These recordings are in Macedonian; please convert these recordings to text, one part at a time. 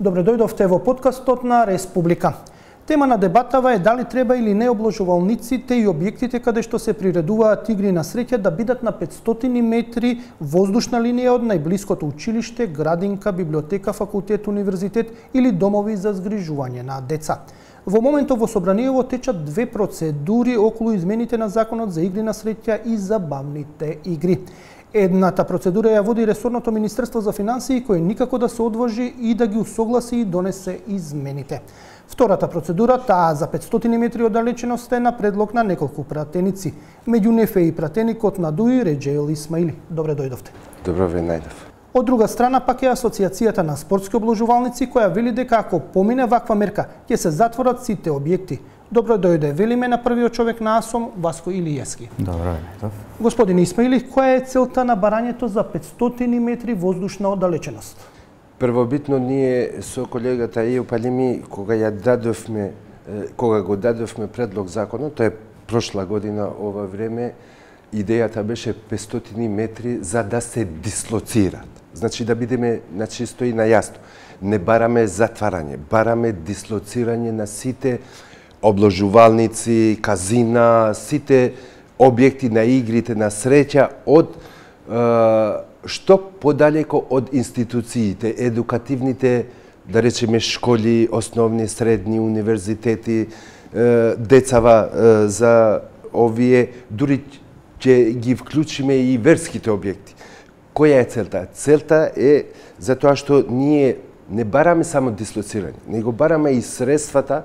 Добре дојдовте во подкастот на Республика. Тема на дебатава е дали треба или не обложувалниците и објектите каде што се приредуваат игри на среќа да бидат на 500 метри воздушна линија од најблиското училиште, градинка, библиотека, факултет, универзитет или домови за згрижување на деца. Во моментов во Собраниево течат две процедури околу измените на Законот за игри на среќа и забавните игри. Едната процедура ја води ресорното Министерство за финансии, кој никако да се одложи и да ги усогласи и донесе измените. Втората процедура, таа за 500 метри оддалеченост, е на предлог на неколку пратеници. Меѓу нив е и пратеникот на ДУИ Реџеил Исмаили. Добре дојдовте. Добро ве најдов. Од друга страна пак е Асоциацијата на спортски обложувалници, која вели дека ако помине ваква мерка, ќе се затворат сите објекти. Добро дојде, велиме на првиот човек на АСОМ, Васко Илиевски. Добро најдов. Господин Исмаили, која е целта на барањето за 500 метри воздушна оддалеченост? Првобитно ние со колегата Ејо Палеми, кога го дадовме предлог законот, тоа е прошла година ова време, идејата беше 500 метри за да се дислоцираат. Значи да бидеме на чисто и на јасно. Не бараме затварање, бараме дислоцирање на сите обложувалници, казина, сите објекти на игрите на среќа од што подалеко од институциите, едукативните, да речеме, школи, основни, средни, универзитети, децава за овие, дури ќе ги вклучиме и верските објекти. Која е целта? Целта е затоа што ние не бараме само дислоцирање, него бараме и средствата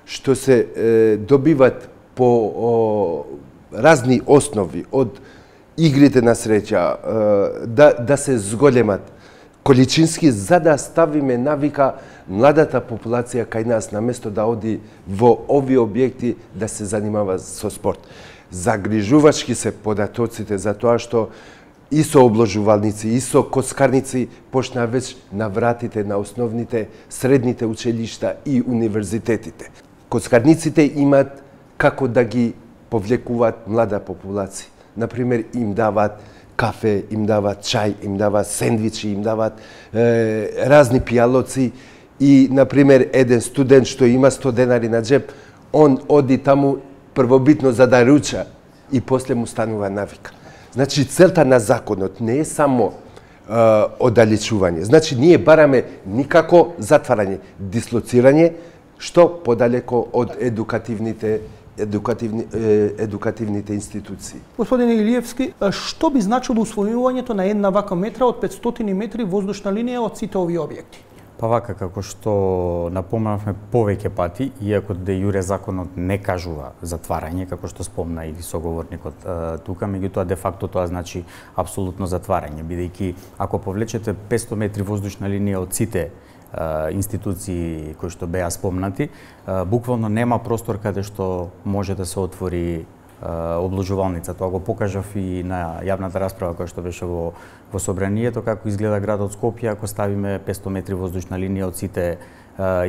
што се добиват по разни основи од игрите на среќа, да се зголемат количински, за да ставиме навика младата популација кај нас, наместо да оди во овие објекти да се занимава со спорт. Загрижувачки се податоците за тоа што и со обложувалници, и со коцкарници почнаа веќе на вратите на основните, средните училишта и универзитетите. Коцкарниците имаат како да ги повлекуваат млада популација. Например, им даваат кафе, им даваат чај, им даваат сендвичи, им даваат разни пијалоци и, например, еден студент што има 100 денари на джеб, он оди таму првобитно за да руча и после му станува навика. Значи, целта на законот не е само оддалечување. Значи, ние бараме никако затварање, дислоцирање, што подалеко од едукативните институции. Господин Илиевски, што би значило усвојувањето на една вака метра од 500 метри воздушна линија од сите овие објекти? Па вака, како што напоменавме повеќе пати, иако де јуре законот не кажува затварање, како што спомна и соговорникот тука, меѓутоа де факто тоа значи апсолутно затварање, бидејќи ако повлечете 500 метри воздушна линија од сите институции кои што беа спомнати, буквално нема простор каде што може да се отвори обложувалница. Тоа го покажав и на јавната расправа која што беше во Собранието, како изгледа градот Скопје ако ставиме 500 метри воздушна линија од сите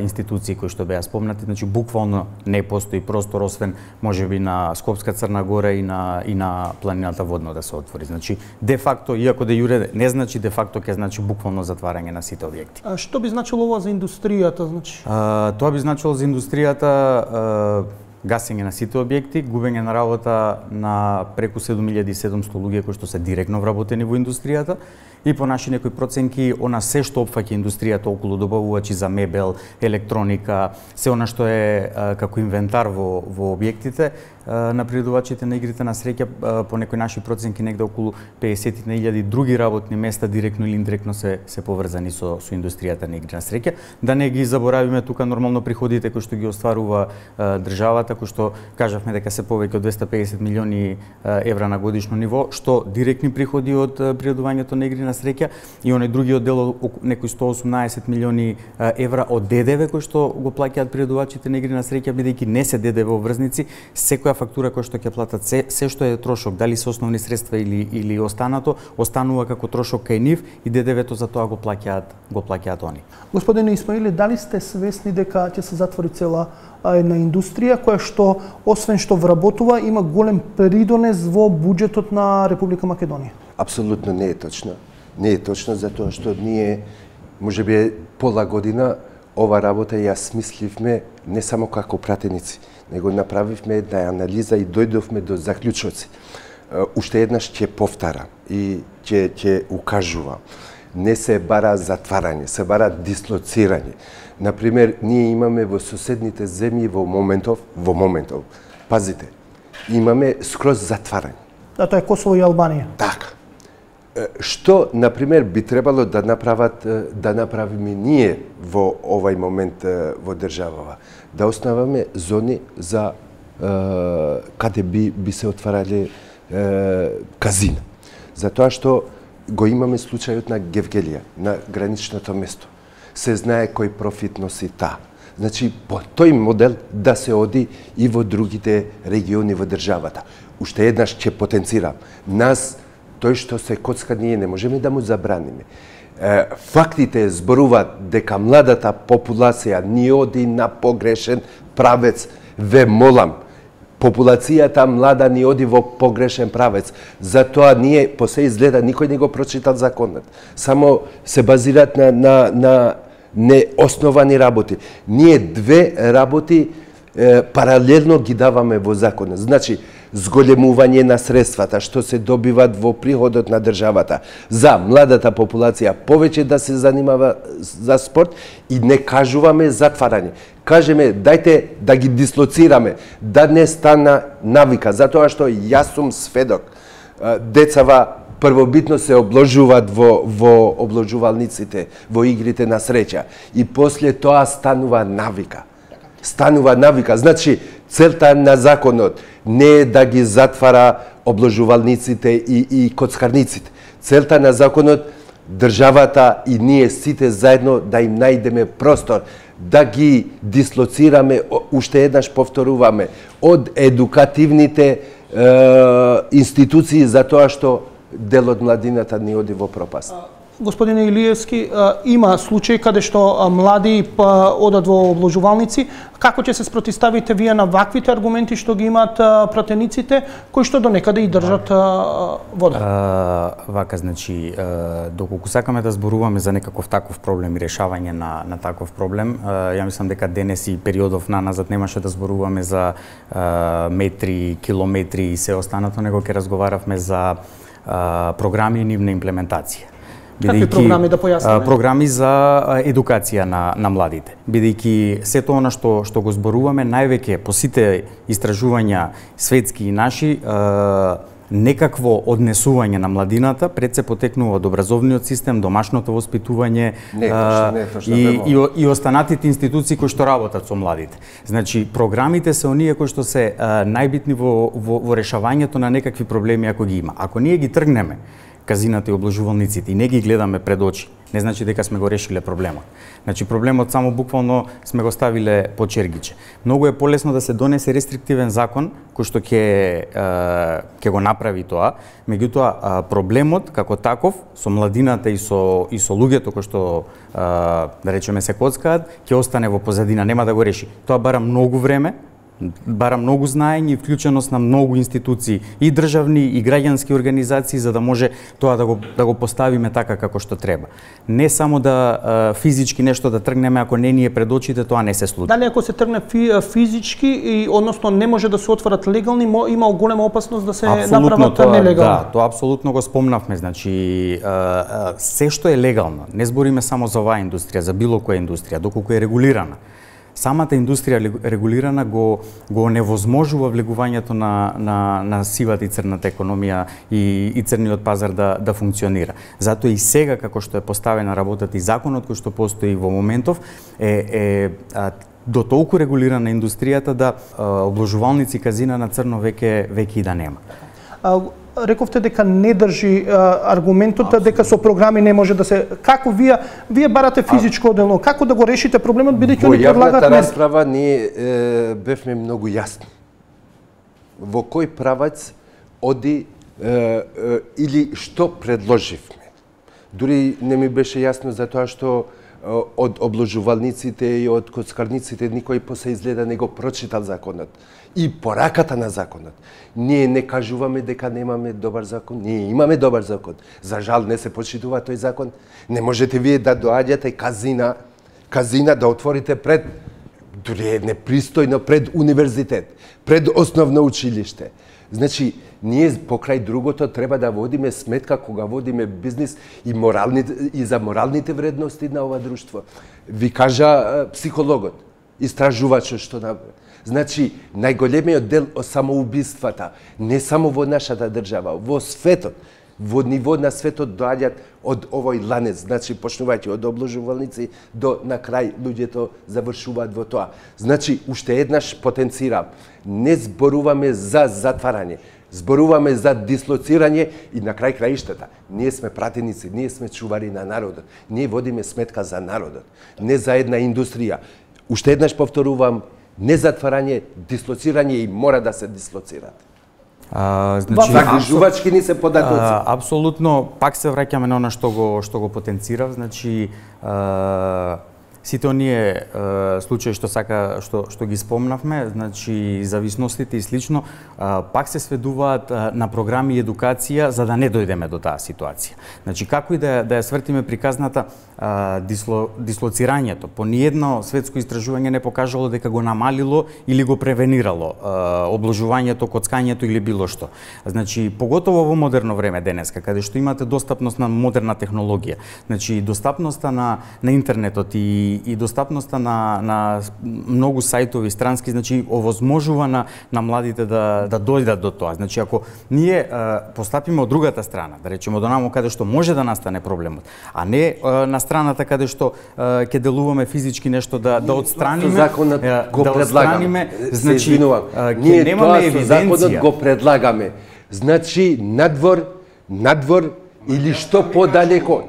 институции кои што беа спомнати. Значи буквално не постои простор освен можеби на Скопска Црна Гора и на планината Водно да се отвори. Значи де факто, иако де јуре не значи де факто ќе значи буквално затварање на сите објекти. А што би значило ова за индустријата, значи? Тоа би значило за индустријата гасење на сите објекти, губење на работа на преку 7700 луѓе кои што се директно вработени во индустријата и по наши некои проценки она се што опфаќа индустријата околу добавувачи за мебел, електроника, се она што е како инвентар во објектите на приредувачите на игрите на среќа, по некои наши проценки негде околу 50.000 други работни места директно или индиректно се поврзани со индустријата на игри на среќа. Да не ги заборавиме тука нормално приходите кои што ги остварува државата, кои што кажавме дека се повеќе од 250 милиони евра на годишно ниво, што директни приходи од приредувањето на игри на среќа и оној другиот дел некои 118 милиони евра од ДДВ кои што го плаќаат приредувачите на игри на среќа, бидејќи не се ДДВ обврзници, секоја фактура која што ќе платат се што е трошок, дали се основни средства или останато, останува како трошок кај нив и ДДВ-то за тоа го плаќаат они. Господине Исмаили, дали сте свесни дека ќе се затвори цела една индустрија која што освен што вработува има голем придонес во буџетот на Република Македонија? Апсолутно не е точно. Не е точно затоа што ние можеби пола година ова работа ја смисливме не само како пратеници, него направивме една анализа и дојдовме до заклучоци. Уште еднаш ќе повтарам и ќе укажувам. Не се бара затварање, се бара дислоцирање. Например, ние имаме во соседните земји во моментов, пазите, имаме скроз затварање. Да, тоа е Косово и Албанија. Така. Што, например, би требало да направиме ние во овај момент во државава? Да основаме зони за каде би се отварале казина. Затоа што го имаме случајот на Гевгелија, на граничното место. Се знае кој профит носи таа. Значи, по тој модел да се оди и во другите региони во државата. Уште еднаш ќе потенцирам. Нас, тој што се коцка, ние не можеме да му забраниме. Фактите зборуваат дека младата популација ни оди на погрешен правец. Ве молам, популацијата млада ни оди во погрешен правец. Затоа ние, по се изгледа, никој не го прочитал законот. Само се базираат на неосновани работи. Ние две работи паралелно ги даваме во законот. Значи, зголемување на средствата што се добиват во приходот на државата за младата популација повеќе да се занимава за спорт и не кажуваме затварање. Кажеме, дајте да ги дислоцираме, да не стана навика, затоа што јас сум сведок. Децава првобитно се обложуваат во обложувалниците, во игрите на среќа и после тоа станува навика. Значи, целта на законот не е да ги затвара обложувалниците и коцкарниците. Целта на законот, државата и ние сите заедно да им најдеме простор, да ги дислоцираме, уште еднаш повторуваме, од едукативните институции за тоа што дел од младината ни оди во пропаст. Господине Илиевски, има случаи каде што млади одат во обложувалници. Како ќе се спротивставите вие на ваквите аргументи што ги имаат пратениците, кои што до некаде и држат вода? Вака, значи, доколку сакаме да зборуваме за некаков таков проблем и решавање на таков проблем, ја мислам дека денес и периодов наназад немаше да зборуваме за метри, километри и се останато, него ќе разговаравме за програми и нивна имплементација. Какви програми да појасниме? Програми за едукација на младите. Бидејќи сето она што го зборуваме, највеќе по сите истражувања светски и наши, некакво однесување на младината пред се потекнува од образовниот систем, домашното воспитување и останатите институции кои што работат со младите. Значи, програмите се оние кои што се најбитни во решавањето на некакви проблеми ако ги има. Ако ние ги тргнеме казината и обложувалниците и не ги гледаме пред очи, не значи дека сме го решиле проблемот. Значи, проблемот само буквално сме го ставиле по чергиче. Многу е полесно да се донесе рестриктивен закон кој што ќе го направи тоа, меѓутоа проблемот како таков со младината и со луѓето кои што да речеме се коцкаат, ќе остане во позадина, нема да го реши. Тоа бара многу време, бара многу знаење и вклученост на многу институции, и државни и граѓански организации, за да може тоа да го поставиме така како што треба. Не само да физички нешто да тргнеме, ако не ни е пред очите, тоа не се случи. Дали ако се тргне физички и односно не може да се отворат легални, има голема опасност да се направат нелегални? Да, тоа апсолутно го спомнавме. Значи, се што е легално, не збориме само за оваа индустрија, за било која индустрија, доколку е регулирана. Самата индустрија регулирана го невозможува влегувањето на сивата и црната економија и црниот пазар да функционира. Затоа и сега, како што е поставена работата и законот кој што постои во моментов, е до толку регулирана индустријата да обложувалници казина на црно веќе и да нема. Рековте дека не држи аргументот дека со програми не може да се... Како вие барате физичко одделно, како да го решите проблемот, бидејќи они предлагаат... Во јавната расправа ние бевме многу јасни. Во кој правац оди или што предложивме. Дури не ми беше јасно за тоа што од обложувалниците и од коцкарниците никој после изгледа не го прочитал законот и пораката на законот. Ние не кажуваме дека немаме добар закон, ние имаме добар закон. За жал не се почитува тој закон. Не можете вие да доаѓате казина да отворите пред, дури е непристојно, пред универзитет, пред основно училиште. Значи, ние покрај другото треба да водиме сметка кога водиме бизнис и за моралните вредности на ова друштво. Ви кажа психологот, истражувачот што направи. Значи, најголемиот дел од самоубиствата, не само во нашата држава, во светот, во ниво на светот доаѓаат од овој ланец, значи почнувајќи од обложувалници до на крај луѓето завршуваат во тоа. Значи, уште еднаш потенцирам, не зборуваме за затварање, зборуваме за дислоцирање и на крај краиштата. Ние сме пратеници, ние сме чувари на народот. Ние водиме сметка за народот, не за една индустрија. Уште еднаш повторувам, не затварање, дислоцирање и мора да се дислоцираат. Значи, загрижувачки ни се податоци. Апсолутно, пак се враќаме на она што го потенцирав, значи сите оние случаи што ги спомнавме, значи зависностите и слично, пак се сведуваат на програми и едукација за да не дојдеме до таа ситуација. Значи како и да ја свртиме приказната, дислоцирањето по ниедно светско истражување не покажало дека го намалило или го превенирало обложувањето, коцкањето или било што. Значи поготово во модерно време денеска, каде што имате достапност на модерна технологија, значи достапноста на интернетот и достапноста на многу сајтови странски, значи овозможува на младите да дојдат до тоа. Значи ако ние постапиме од другата страна, да речеме од онамо каде што може да настане проблемот, а не на страната каде што ќе делуваме физички нешто да отстраниме, законот го предлагаме. Значи ние немаме евиденција. Законот го предлагаме. Значи надвор или што подалеко,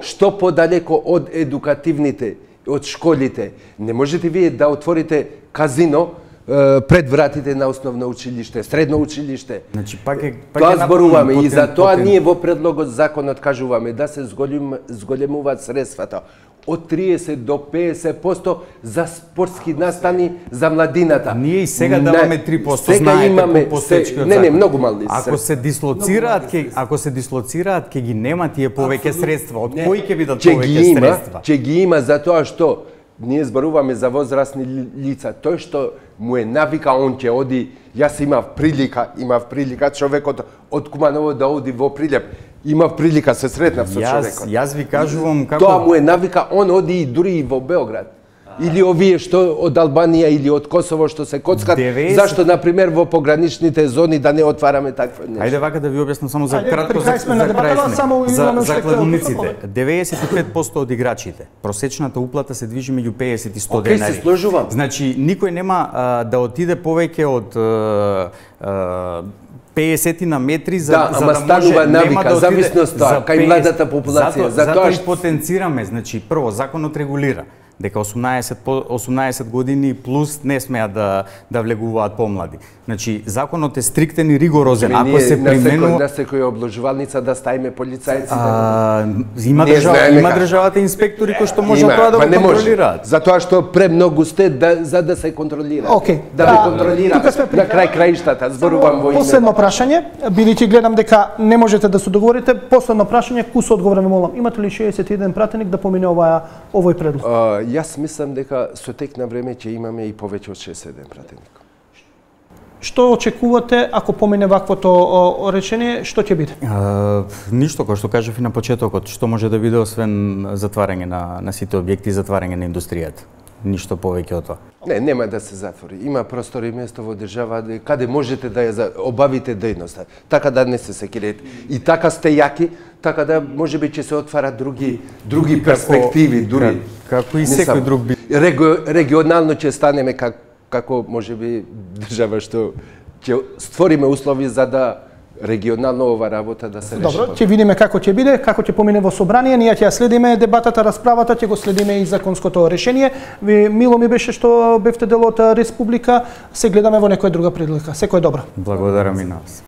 што подалеко од едукативните, од школите. Не можете вие да отворите казино пред вратите на основно училиште, средно училиште. Значи пак тоа зборуваме и за тоа ние во предлогот законот кажуваме да се зголемуваат средствата од 30 до 50% за спортски настани за младината. Ние и сега даваме 3%, знаете, по постечкиот закон. Не, многу мали. Ако се дислоцираат, ќе ги нема тие повеќе средства. Од кои ќе бидат повеќе средства? Ќе ги има затоа што ние зборуваме за возрастни лица. Тој што му е навика, он ќе оди. Јас имав прилика човекот од Куманово да оди во Прилеп. Имав прилика се сретнав со човекот. Јас ви кажувам како тоа му е навика, он оди и дури и во Београд. Или овие што од Албанија или од Косово што се коцкат, зашто на пример во пограничните зони да не отвараме такво нешто? Ајде вака да ви објаснам само за кратко за кладунниците. 95% од играчите, просечната уплата се движи меѓу 50 и 100 денари. Се сложувам. Значи никој нема да отиде повеќе од 50 на метри за да станува навика, зависноста кај младата популација. Затоа и потенцираме, значи прво законот регулира дека 18 години плюс не смеат да влегуваат помлади. Значи законот е стриктен и ригорозен. Ако се применува на секоја обложувалница да ставиме полицајци. Има државата инспектори кои што можат тоа да го контролираат. Затоа што премногу сте за да се контролира. Да ме контролира на крај краиштата. Зборувам во име. Последно прашање, бидејќи гледам дека не можете да се договорите, последно прашање, кус одговор ме молам. Имате ли 61 пратеник да помине овој предлог? Јас мислам дека со тек на време ќе имаме и повеќе од 61 пратеник. Што очекувате ако помине ваквото речение, што ќе биде? Ништо, кој што кажав и на почетокот, што може да биде освен затварање на сите објекти и затварање на индустријата. Ништо повеќе од тоа. Нема да се затвори. Има простори и место во држава каде можете да ја обавите дејноста. Така да не се секирете. И така сте јаки, така да можеби ќе се отварат други перспективи, дури. Како и секој друг би. Регионално ќе станеме како можеби држава што ќе створиме услови за да регионално ова работа да се реши. Добро, ќе видиме како ќе биде, како ќе помине во собрание, ние ќе ја следиме дебатата, расправата, ќе го следиме и законското решение. Мило ми беше што бевте дел од Республика, се гледаме во некоја друга прилика. Секој добро. Благодарам и на вас.